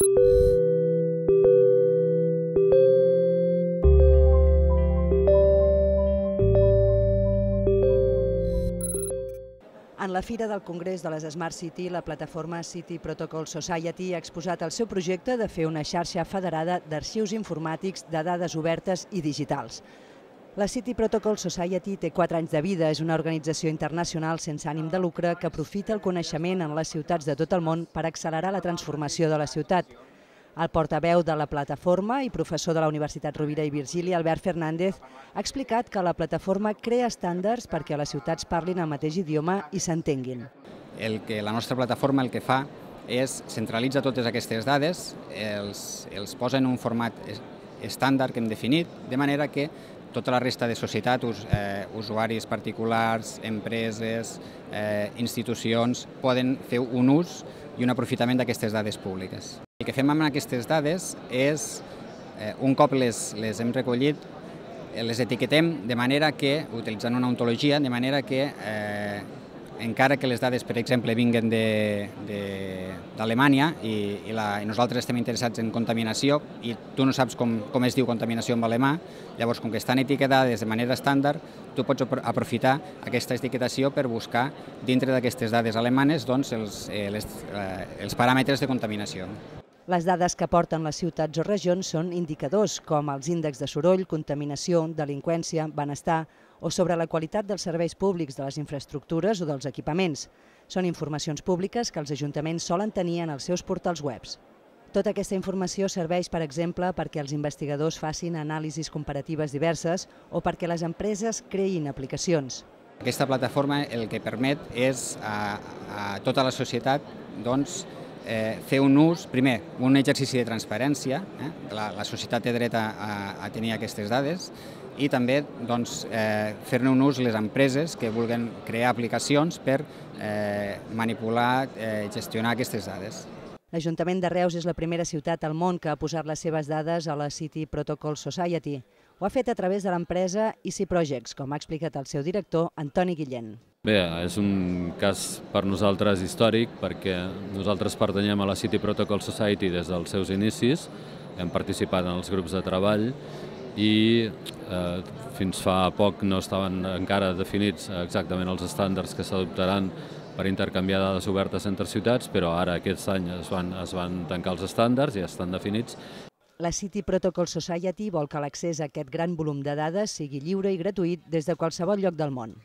En la Fira del Congrés de les Smart City, la plataforma City Protocol Society ha exposat el seu projecte de fer una xarxa federada d'arxius informàtics de dades obertes i digitals. La City Protocol Society té 4 anys de vida, és una organització internacional sense ànim de lucre que aprofita el coneixement en les ciutats de tot el món per accelerar la transformació de la ciutat. El portaveu de la plataforma i professor de la Universitat Rovira i Virgili, Albert Fernández, ha explicat que la plataforma crea estàndards perquè les ciutats parlin el mateix idioma i s'entenguin. La nostra plataforma el que fa és centralitzar totes aquestes dades, els posa en un format estàndard que hem definit, de manera que tota la resta de societat, usuaris particulars, empreses, institucions, poden fer un ús i un aprofitament d'aquestes dades públiques. El que fem amb aquestes dades és, un cop les hem recollit, les etiquetem de manera que, utilitzant una ontologia, de manera que encara que les dades, per exemple, vinguen d'Alemanya i nosaltres estem interessats en contaminació i tu no saps com es diu contaminació en alemà, llavors, com que estan etiquetades de manera estàndard, tu pots aprofitar aquesta etiquetació per buscar dintre d'aquestes dades alemanes els paràmetres de contaminació. Les dades que aporten les ciutats o regions són indicadors com els índexs de soroll, contaminació, delinqüència, benestar o sobre la qualitat dels serveis públics, de les infraestructures o dels equipaments. Són informacions públiques que els ajuntaments solen tenir en els seus portals webs. Tota aquesta informació serveix, per exemple, perquè els investigadors facin anàlisis comparatives diverses o perquè les empreses creïn aplicacions. Aquesta plataforma el que permet és a tota la societat fer un ús, primer, un exercici de transparència, la societat té dret a tenir aquestes dades, i també fer-ne un ús les empreses que vulguin crear aplicacions per manipular, gestionar aquestes dades. L'Ajuntament de Reus és la primera ciutat al món que ha posat les seves dades a la City Protocol Society. Ho ha fet a través de l'empresa Easy Projects, com ha explicat el seu director, Antoni Guillén. Bé, és un cas per nosaltres històric perquè nosaltres pertanyem a la City Protocol Society des dels seus inicis, hem participat en els grups de treball i fins fa poc no estaven encara definits exactament els estàndards que s'adoptaran per intercanviar dades obertes entre ciutats, però ara aquest any es van tancar els estàndards i ja estan definits. La City Protocol Society vol que l'accés a aquest gran volum de dades sigui lliure i gratuït des de qualsevol lloc del món.